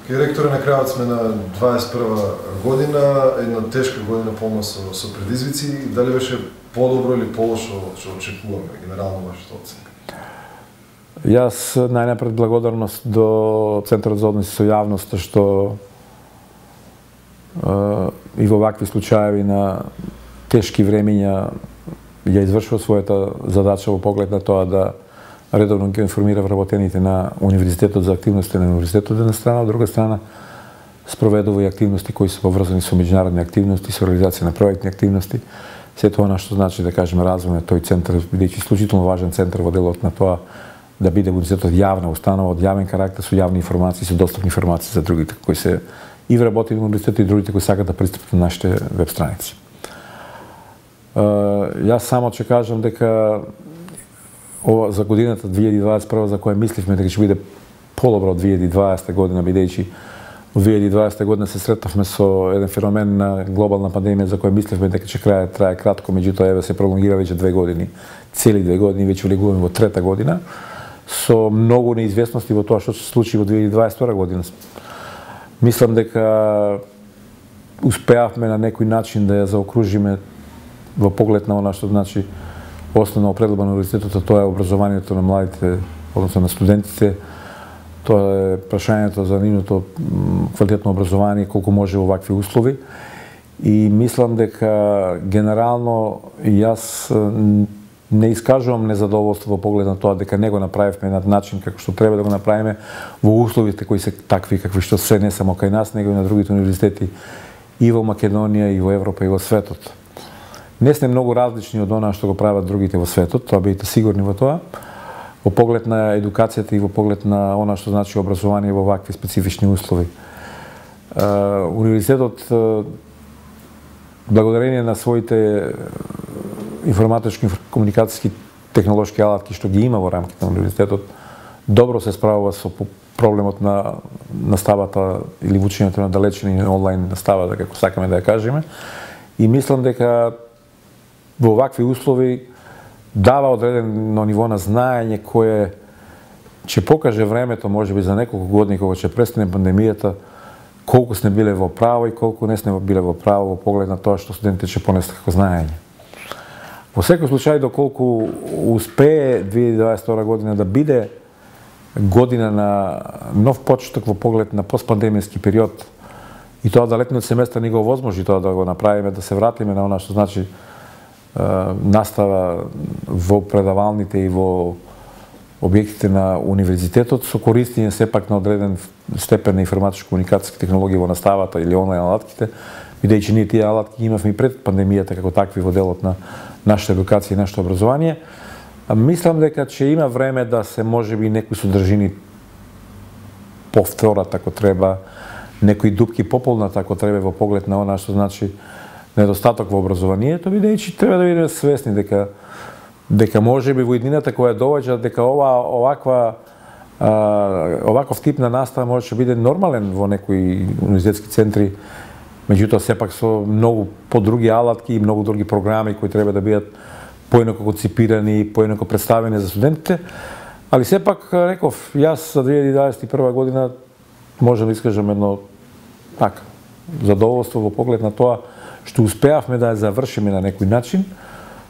Кај ректоре, на крајот сме на 21 година, една тешка година полна со предизвици. Дали беше подобро или полошо што очекуваме, генерално вашата оценка? Јас најнапред благодарност до Центарот за односи со јавноста што и во вакви случаеви на тешки времиња ја извршува својата задача во поглед на тоа да редовно ги информира вработените на универзитетот за активности на универзитетот една страна, од друга страна спроведува и активности кои се поврзани со меѓународни активности, со реализација на проектни активности. Се тоа што значи да кажеме развој на тој центар, бидејќи исклучително важен центар во делот на тоа да биде универзитетот јавна установа од јавен карактер со јавни информации, со достапни информации за другите кои се и вработени во универзитетот и другите кои сакаат да пристапат на нашите веб страници. Јас само ќе кажам дека ова за годината 2021 за која мисливме дека ќе биде подобро од 2020 година, бидејќи во 2020 година се сретнавме со еден феномен на глобална пандемија за која мисливме дека ќе трае кратко, меѓутоа еве се пролонгира веќе 2 години, цели 2 години, веќе влегуваме во трета година, со многу неизвестности во тоа што се случи во 2022 година. Мислам дека успеавме на некој начин да ја заокружиме во поглед на она што значи основна определба на универзитетот, тоа е образованието на младите, односно на студентите, тоа е прашањето за нивното квалитетно образование, колку може во вакви услови. И мислам дека генерално јас не искажувам незадоволство во поглед на тоа дека не го направивме на начин како што треба да го направиме во условите кои се такви какви што се не само кај нас, него и на другите универзитети и во Македонија, и во Европа, и во светот. Не сме многу различни од она што го прават другите во светот, тоа бидете сигурни во тоа, во поглед на едукацијата и во поглед на она што значи образование во вакви специфични услови. Универзитетот, благодарение на своите информатички, комуникацијски, технолошки алатки што ги има во рамките на универзитетот, добро се справува со проблемот на наставата или учењето на далечен и онлайн наставата, како сакаме да ја кажеме. И мислам дека во вакви услови дава одредено ниво на знаење кое ќе покаже времето, можеби за неколку години кога ќе престане пандемијата, колку сме биле во право и колку не сме биле во право во поглед на тоа што студентите ќе понесат како знаење. Во секој случај, доколку успее 2022 година да биде година на нов почеток во поглед на постпандемијски период и тоа да летниот семестар ни го овозможи тоа да го направиме, да се вратиме на она што значи настава во предавалните и во објектите на универзитетот со користење сепак на одреден степен на информатичко-комуникацијски технологии во наставата или онлайн алатките, бидејќи ние тие алатки имавме и пред пандемијата како такви во делот на нашата едукација и нашето образование. Мислам дека ќе има време да се можеби некои содржини повторат ако треба, некои дупки пополнат ако треба во поглед на она што значи недостаток во образованието, бидејќи треба да бидеме свесни дека можеби во иднината која доаѓа дека оваков тип на настава може да биде нормален во некои универзитетски центри, меѓутоа сепак со многу подруги алатки и многу други програми кои треба да бидат поинако конципирани, поинако представени за студентите, али сепак реков, јас за 2021 година можам да искажам едно така задоволство во поглед на тоа што успеавме да ја завршиме на некој начин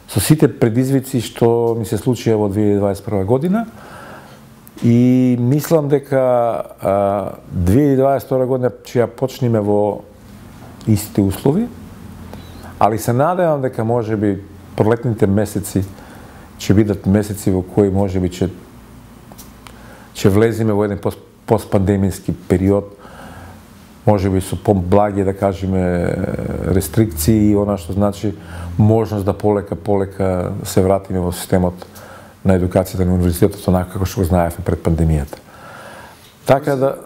со сите предизвици што ми се случија во 2021 година и мислам дека 2022 година ќе ја почнеме во истите услови, али се надевам дека можеби пролетните месеци ќе бидат месеци во кои можеби ќе влеземе во еден постпандемијски период, можеби со поблаги, да кажеме, рестрикции и она што значи можност да полека се вратиме во системот на едукацијата на универзитетот онака како што го знаевме пред пандемијата. Така да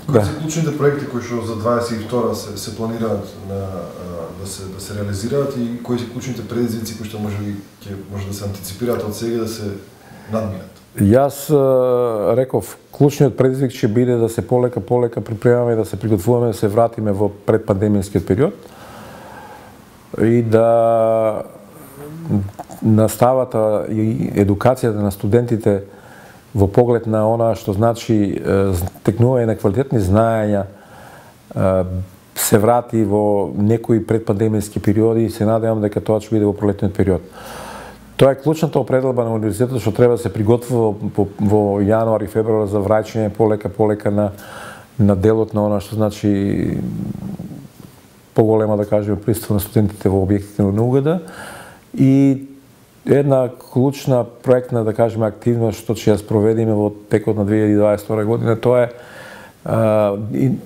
кои се клучните проекти кои што за 22 се планираат да се реализираат и кои се клучните предизвици кои што може да се антиципираат од сега да се надминат? Јас реков, клучниот предизвик ќе биде да се полека припремаме, да се приготвуваме, да се вратиме во предпандемијскиот период и да наставата и едукацијата на студентите во поглед на она што значи стекнување на квалитетни знаења, се врати во некои предпандемијски периоди и се надевам дека тоа ќе биде во пролетниот период. Тоа е клучната определба на универзитетот што треба да се приготвува во јануари, февруар за враќање полека на делот на она што значи поголема, да кажеме, присуство на студентите во објектите на УГД и една клучна проектна, да кажеме, активност што ќе ја спроведиме во текот на 2022 година, тоа е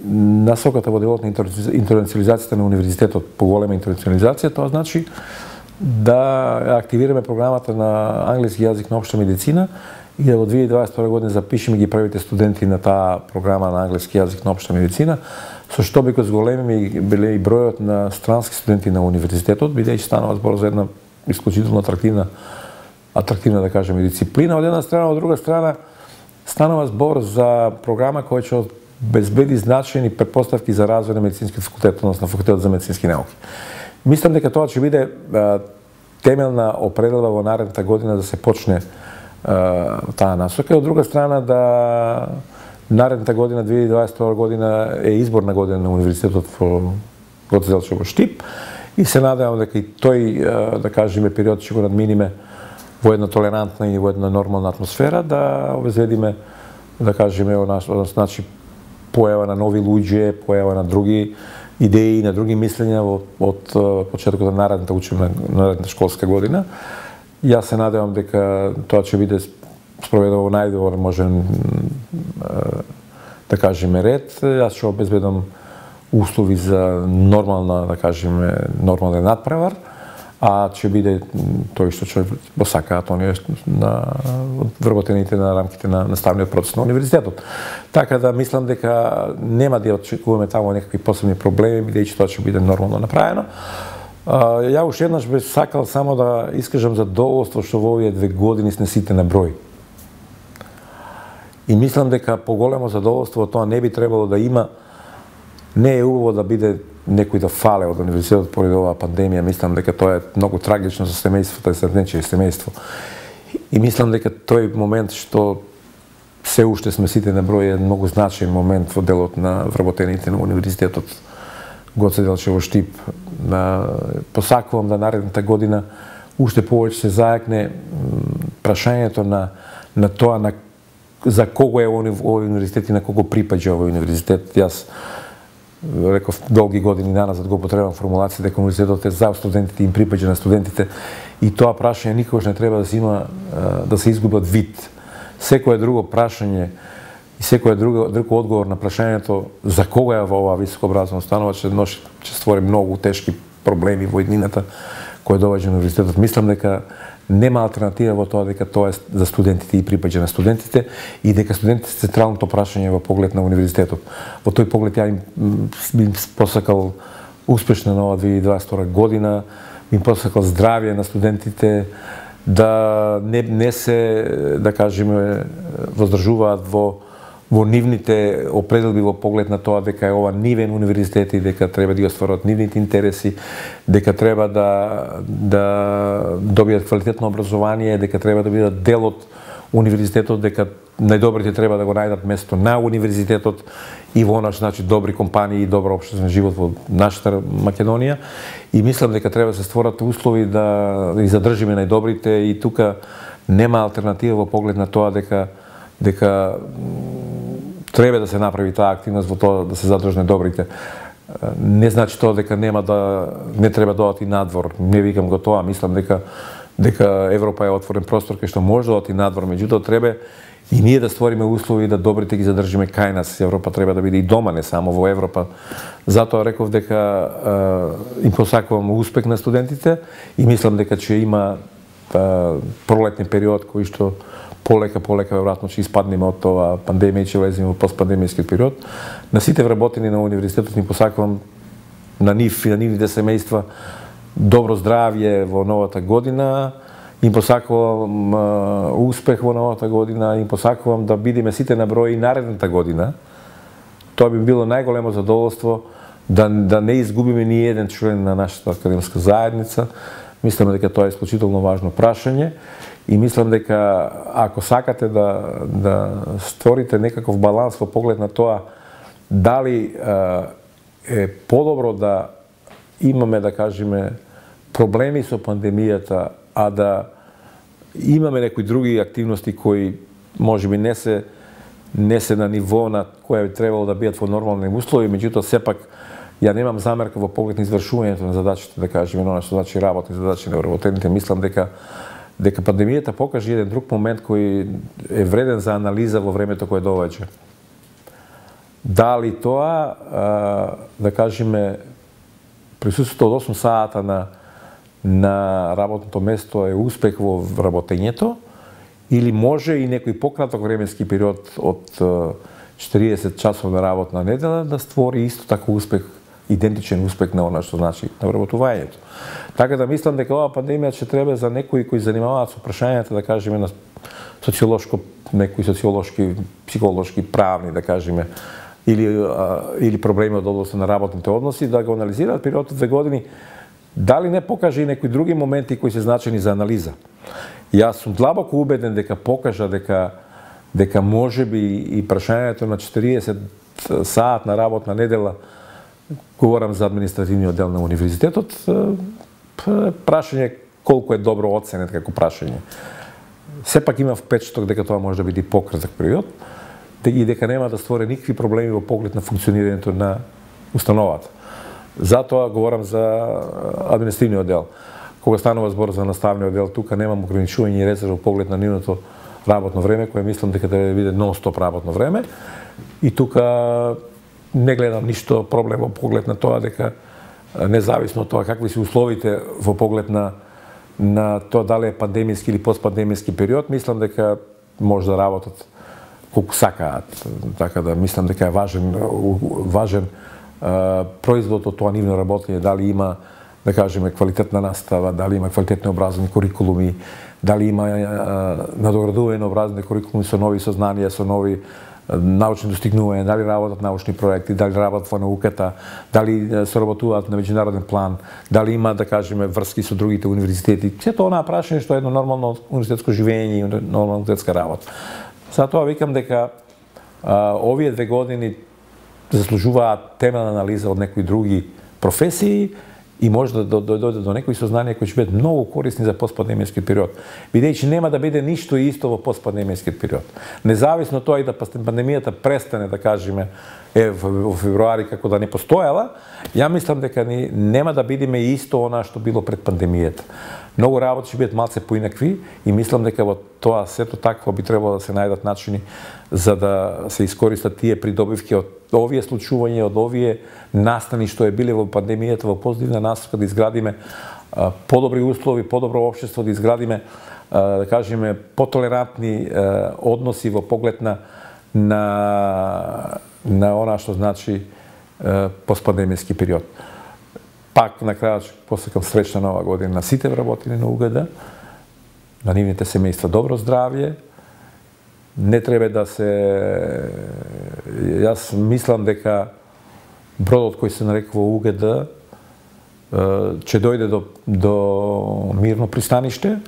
насоката во делот на интернационализацијата на универзитетот, поголема интернационализација, тоа значи да активираме програмата на англиски јазик на општа медицина и да во 2022 година запишеме ги првите студенти на таа програма на англиски јазик на општа медицина, со што би го зголемиме биле и бројот на странски студенти на универзитетот, бидејќи станува збор за една исклучително атрактивна, да кажеме, дисциплина од една страна, од друга страна станува збор за програма која ќе обезбеди значајни претпоставки за развој на медицинскиот факултет, односно факултетот за медицински науки. Мислам дека тоа ќе биде темелна определба во наредната година да се почне таа насока. Од друга страна да наредната година, 2022 година, е изборна година на универзитетот во Гоце Делчев во Штип и се надевам дека и тој, да кажеме, период ќе го надминиме во една толерантна и во една нормална атмосфера, да обезбедиме, да кажеме, значи појава на нови луѓе, појава на други идеи, на други мислења од почетокот на наредната школска година. Јас се надевам дека тоа ќе биде спроведено во најдобар можен, да кажеме, ред. Јас ќе обезбедам услови за нормална, да кажеме, нормален надпревар, а ќе биде тој што ќе посакаат оние вработените на рамките на наставниот процес на универзитетот. Така да мислам дека нема да очекуваме таму некакви посебни проблеми, бидејќи тоа ќе биде нормално направено. Ја уште еднаш би сакал само да искажам задоволство што во овие 2 години снесите на број. И мислам дека поголемо задоволство тоа не би требало да има. Не е убаво да биде некој да фале од универзитетот поради оваа пандемија. Мислам дека тоа е многу трагично за семејството и за нечие семејство. И мислам дека тој момент што се уште сме сите на број е многу значаен момент во делот на вработените на универзитетот Гоце Делчев во Штип. Посакувам да наредната година уште повеќе се зајакне прашањето на тоа за кого е овој универзитет и на кого припаѓа овој универзитет. Јас реков долги години назад го употребам формулација дека универзитетот е за студентите и им припаѓа на студентите и тоа прашање никогаш не треба да се изгуби од вид. Секое друго прашање и секој друг одговор на прашањето за кого е во оваа високообразована установа ќе створи многу тешки проблеми во иднината кој доваѓа универзитетот. Мислам дека нема алтернатива во тоа дека тоа е за студентите и припаѓа на студентите и дека студентите се централното прашање во поглед на универзитетот. Во тој поглед ја им посакал успешна нова 2022 година, им посакал здравје на студентите, да не се, да кажеме, воздржуваат во нивните определби во поглед на тоа дека е ова нивен универзитет и дека треба да ги остваруваат нивните интереси, дека треба да добијат квалитетно образование, дека треба да бидат дел од универзитетот, дека најдобрите треба да го најдат место на универзитетот и во она значи добри компании и добро општествен живот во нашата Македонија. И мислам дека треба да се створат услови да ги задржиме најдобрите и тука нема алтернатива во поглед на тоа дека треба да се направи таа активност во тоа да се задржне добрите. Не значи тоа дека не треба да одат и надвор. Не викам го тоа, мислам дека Европа е отворен простор кај што може да одат и надвор, меѓутоа треба и ние да створиме услови да добрите ги задржиме кај нас. Европа треба да биде и дома, не само во Европа. Затоа реков дека им посакувам успех на студентите и мислам дека ќе има пролетни период кој што полека веројатно ќе испаднеме од тоа пандемија и ќе влеземе во постпандемијскиот период. На сите вработени на универзитетот им посакувам на нив и на нивните семејства добро здравје во новата година. Им посакувам успех во новата година, им посакувам да бидеме сите на број и наредната година. Тоа би било најголемо задоволство да не изгубиме ни еден член на нашата академска заедница. Мислиме дека тоа е исклучително важно прашање И мислам дека ако сакате да створите некаков баланс во поглед на тоа дали е подобро да имаме, да кажеме, проблеми со пандемијата, а да имаме некои други активности кои можеби не се на ниво на која би требало да бидат во нормални услови, меѓутоа сепак ја немам замерка во поглед на извршувањето на задачите, да кажеме, она што значи работни задачи на вработените. Мислам дека пандемијата покажа еден друг момент кој е вреден за анализа во времето кое довеќе. Дали тоа, да кажеме, присуството од 8 сата на работното место е успех во вработењето, или може и некој пократок временски период од 40 часовна работна недела да створи исто така успех, идентичен успех на она што значи на вработувањето. Така да мислам дека оваа пандемија ќе треба за некои кои занимаваат со прашањата, да кажеме, на некои социолошки, психолошки, правни, да кажеме, или проблеми од областта на работните односи, да го анализираат период од 2 години, дали не покаже и некои други моменти кои се значени за анализа. Јас сум длабоко убеден дека покажа дека можеби и прашањето на 40 саатна работна недела, говорам за административниот дел на универзитетот, прашање колку е добро оценет како прашање. Сепак има впечаток дека тоа може да биде пократок период и дека нема да створи никакви проблеми во поглед на функционирањето на установата. Затоа говорам за административниот дел. Кога станува збор за наставниот дел, тука немам ограничување и резерва во поглед на нивното работно време, кое мислам дека да биде нон-стоп работно време. И тука не гледам ништо проблем во поглед на тоа дека независно од тоа какви се условите во поглед на тоа дали е пандемиски или постпандемиски период, мислам дека може да работат колку сакаат. Така да мислам дека е важен производ од тоа нивно работење, дали има, да кажеме, квалитетна настава, дали има квалитетни образовни курикулуми, дали има надоградување на образовни курикулуми со нови сознанија, со нови научни достигнувања, дали работат научни проекти, дали работат во науката, дали соработуваат на меѓународен план, дали има, да кажеме, врски со другите универзитети. Сето онаа прашање што е едно нормално универзитетско живење и нормална универзитетска работа. Затоа викам дека овие 2 години заслужуваат темелна анализа од некои други професии и може да дојде до некои сознанија кои ќе бидат многу корисни за постпандемијскиот период. Бидејќи нема да биде ништо исто во постпандемијскиот период. Независно од тоа и да пандемијата престане, да кажеме, во февруари како да не постоела, ја мислам дека нема да бидеме исто она што било пред пандемијата. Многу работи ќе бидат малце поинакви и мислам дека во тоа сето такво би требало да се најдат начини за да се искористат тие придобивки од овие случувања, од овие настани што е биле во пандемијата во позитивна насока, да изградиме подобри услови, подобро општество, да изградиме, да кажеме, потолерантни односи во поглед на она што значи постпандемијски период. Пак на крајот посекам среќна нова година на сите вработени на УГД, на нивните семејства добро здравје. Не треба да се... Јас мислам дека бродот кој се нарекува УГД ќе дојде до мирно пристаниште,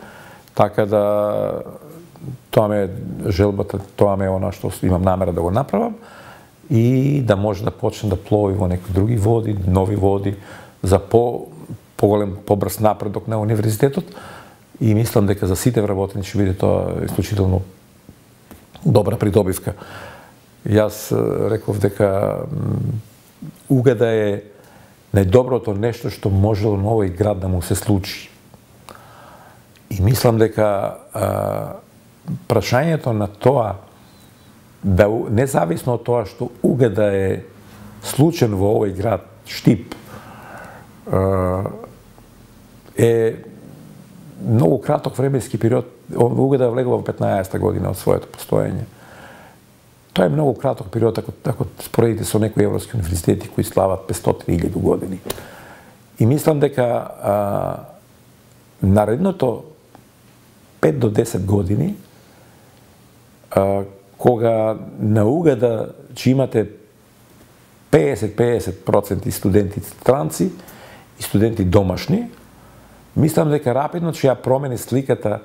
така да тоа ме желбата, тоа ме она што имам намера да го направам и да може да почне да плови во некои други води, нови води, за поголем, побрз напредок на универзитетот и мислам дека за сите вработени ќе биде тоа исклучително добра придобивка. Јас реков дека УГД е најдоброто нешто што можело на овој град да му се случи. И мислам дека прашањето на тоа, да независно од тоа што УГД е случен во овој град, Штип, е многу краток временски период. УГД влегува во 15-та година од своето постоење. Тоа е многу краток период ако споредите со некои европски универзитети кои слават 500-1000 години. И мислам дека наредното 5 до 10 години, кога на УГД ќе имате 50% студенти странци и студенти домашни, мислам дека рапидно ќе ја промени сликата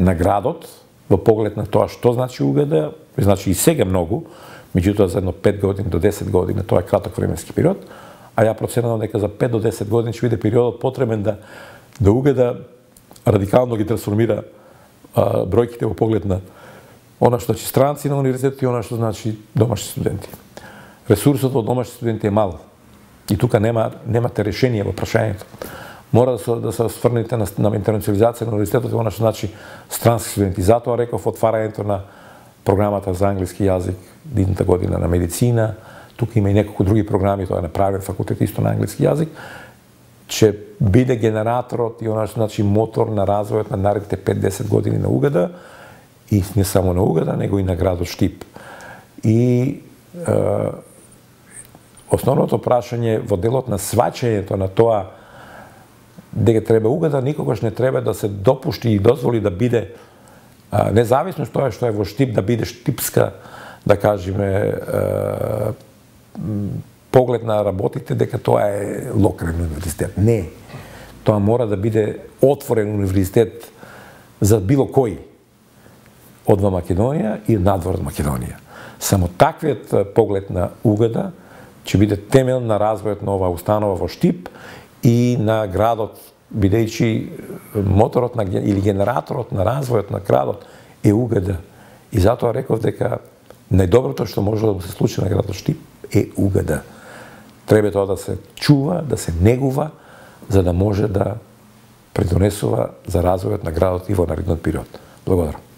на градот во поглед на тоа што значи УГД, значи и сега многу, меѓутоа за едно 5 години до 10 години, тоа е краток временски период, а ја проценувам дека за 5 до 10 години ќе биде периодот потребен да УГД радикално ги трансформира бројките во поглед на она што значи странци на универзитетот и она што значи домашни студенти. Ресурсот од домашни студенти е мал. И тука немате решение во прашањето. Мора да се осврнете на интернационализација на универзитетот и она што значи странски студенти. Затоа реков отварањето на програмата за англиски јазик идната година на медицина, тука има и неколку други програми, тоа е направен факултет исто на англиски јазик, ќе биде генераторот и она што значи мотор на развојот на наредните 5-10 години на УГД, и не само на УГД, него и на градот Штип. И основното прашање во делот на сваќањето на тоа дека треба УГД никогаш не треба да се допушти и дозволи да биде независно тоа што е во Штип, да биде штипска, да кажеме, поглед на работите дека тоа е локален универзитет. Не. Тоа мора да биде отворен универзитет за било кој од Македонија и надвор од Македонија. Само таквиот поглед на УГД ќе биде темел на развојот на оваа установа во Штип и на градот, бидејќи моторот или генераторот на развојот на градот е УГД. И затоа реков дека најдоброто што може да се случи на градот Штип е УГД. Треба тоа да се чува, да се негува, за да може да придонесува за развојот на градот и во наредниот период. Благодарам.